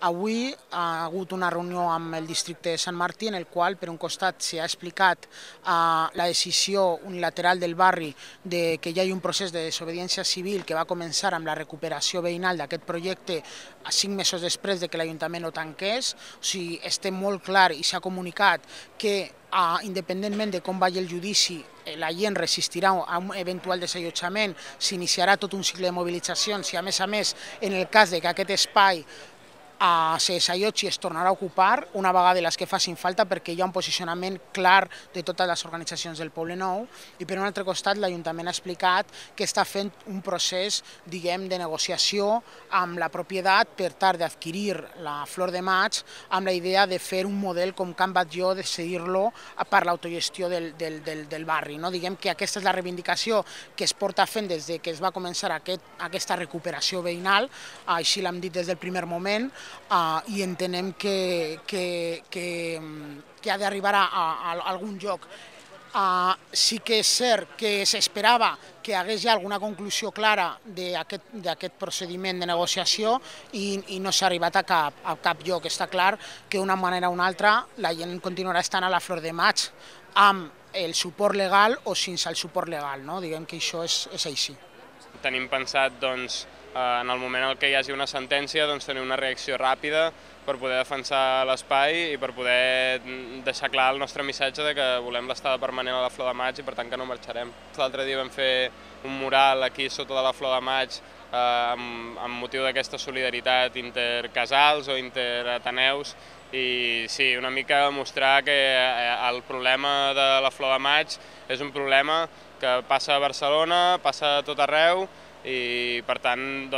Avui ha hagut una reunió amb el districte de Sant Martí en el qual, per un costat, s'ha explicat la decisió unilateral del barri de que hi hagi un procés de desobediència civil que va començar amb la recuperació veïnal d'aquest projecte 5 mesos després de que l'Ajuntament ho tanqués. O sigui, estem molt clar i s'ha comunicat que independentment de com vagi el judici, la gent resistirà a un eventual desallotjament, s'iniciarà tot un cicle de mobilitzacions i, a més, en el cas de que aquest espai se desallotgi es tornarà a ocupar una vegada les que facin falta, perquè hi ha un posicionament clar de totes les organitzacions del Poble Nou. I per un altre costat, l'Ajuntament ha explicat que està fent un procés, diguem, de negociació amb la propietat per tal d'adquirir la Flor de Maig, amb la idea de fer un model com Can Batlló, de cedir-lo per l'autogestió del barri. Diguem que aquesta és la reivindicació que es porta fent des que es va començar aquesta recuperació veïnal, així l'hem dit des del primer moment, i entenem que ha d'arribar a algun lloc. Sí que és cert que s'esperava que hi hagués ja alguna conclusió clara d'aquest procediment de negociació i no s'ha arribat a cap lloc. Està clar que d'una manera o una altra la gent continuarà estant a la Flor de Maig amb el suport legal o sense el suport legal. Diguem que això és així. Tenim pensat, en el moment en què hi hagi una sentència, tenir una reacció ràpida per poder defensar l'espai i per poder deixar clar el nostre missatge de que volem l'estada permanent a la Flor de Maig i per tant que no marxarem. L'altre dia vam fer un mural aquí sota de la Flor de Maig amb motiu d'aquesta solidaritat intercasals o interateneus i sí, una mica mostrar que el problema de la Flor de Maig és un problema que passa a Barcelona, passa a tot arreu i per tant,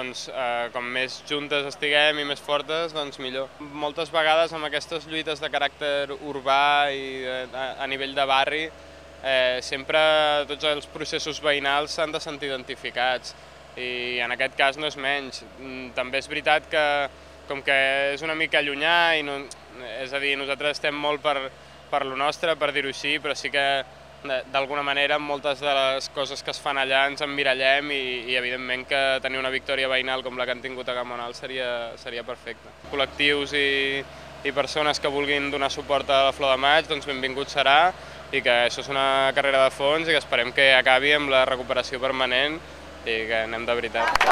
com més juntes estiguem i més fortes, millor. Moltes vegades amb aquestes lluites de caràcter urbà i a nivell de barri, sempre tots els processos veïnals s'han de sentir identificats i en aquest cas no és menys. També és veritat que com que és una mica llunyà, és a dir, nosaltres estem molt per lo nostre, per dir-ho així, però sí que d'alguna manera moltes de les coses que es fan allà ens emmirallem i evidentment que tenir una victòria veïnal com la que han tingut a Gamonal seria perfecte. Col·lectius i persones que vulguin donar suport a la Flor de Maig, benvingut serà i que això és una carrera de fons i que esperem que acabi amb la recuperació permanent i que anem de veritat.